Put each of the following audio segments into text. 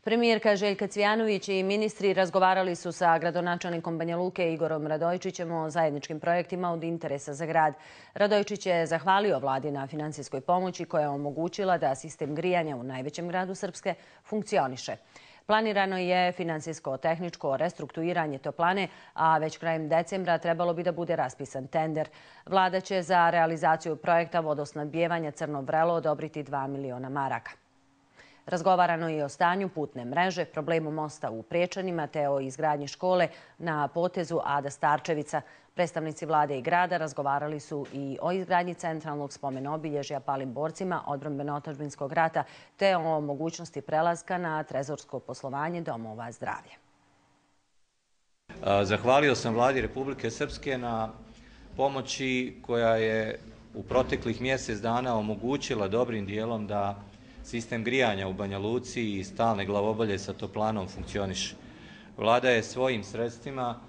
Premijerka Željka Cvijanović i ministri razgovarali su sa gradonačelnikom Banja Luke Igorom Radojičićem o zajedničkim projektima od interesa za grad. Radojičić je zahvalio vladi na finansijskoj pomoći koja je omogućila da sistem grijanja u najvećem gradu Srpske funkcioniše. Planirano je finansijsko-tehničko restrukturiranje toplane, a već krajem decembra trebalo bi da bude raspisan tender. Vlada će za realizaciju projekta vodosnabdijevanja Crno Vrelo odobriti 2 miliona maraka. Razgovarano je i o stanju putne mreže, problemu mosta u Prečanima te o izgradnji škole na potezu Ada Starčevica. Predstavnici vlade i grada razgovarali su i o izgradnji centralnog spomen-obilježja palim borcima odbrambeno-otadžbinskog rata te o mogućnosti prelaska na trezorsko poslovanje domova zdravlja. Zahvalio sam vladi Republike Srpske na pomoći koja je u proteklih mjesec dana omogućila dobrim dijelom da sistem grijanja u Banja Luci i stalne glavobolje sa toplanom funkcioniše. Vlada je svojim sredstvima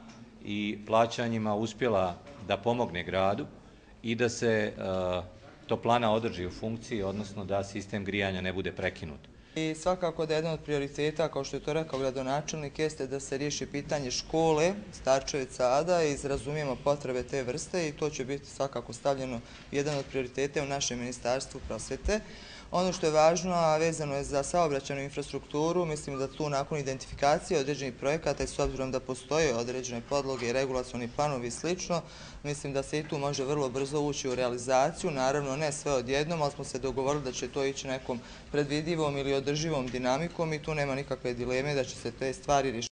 i plaćanjima uspjela da pomogne gradu i da se toplana održi u funkciji, odnosno da sistem grijanja ne bude prekinut. I svakako da je jedan od prioriteta, kao što je to rekao gradonačelnik, jeste da se riješi pitanje škole Starčevica Ada i razumijemo potrebe te vrste i to će biti svakako stavljeno jedan od prioriteta u našem Ministarstvu prosvjete. Ono što je važno, a vezano je za saobraćajnu infrastrukturu, mislim da tu nakon identifikacije određenih projekata i s obzirom da postoje određene podloge i regulacioni planovi i slično, mislim da se i tu može vrlo brzo ući u realizaciju. Naravno, ne sve odjednom, ali smo se dogovorili da će to ići nekom predvidivom ili održivom dinamikom i tu nema nikakve dileme da će se te stvari rješavati.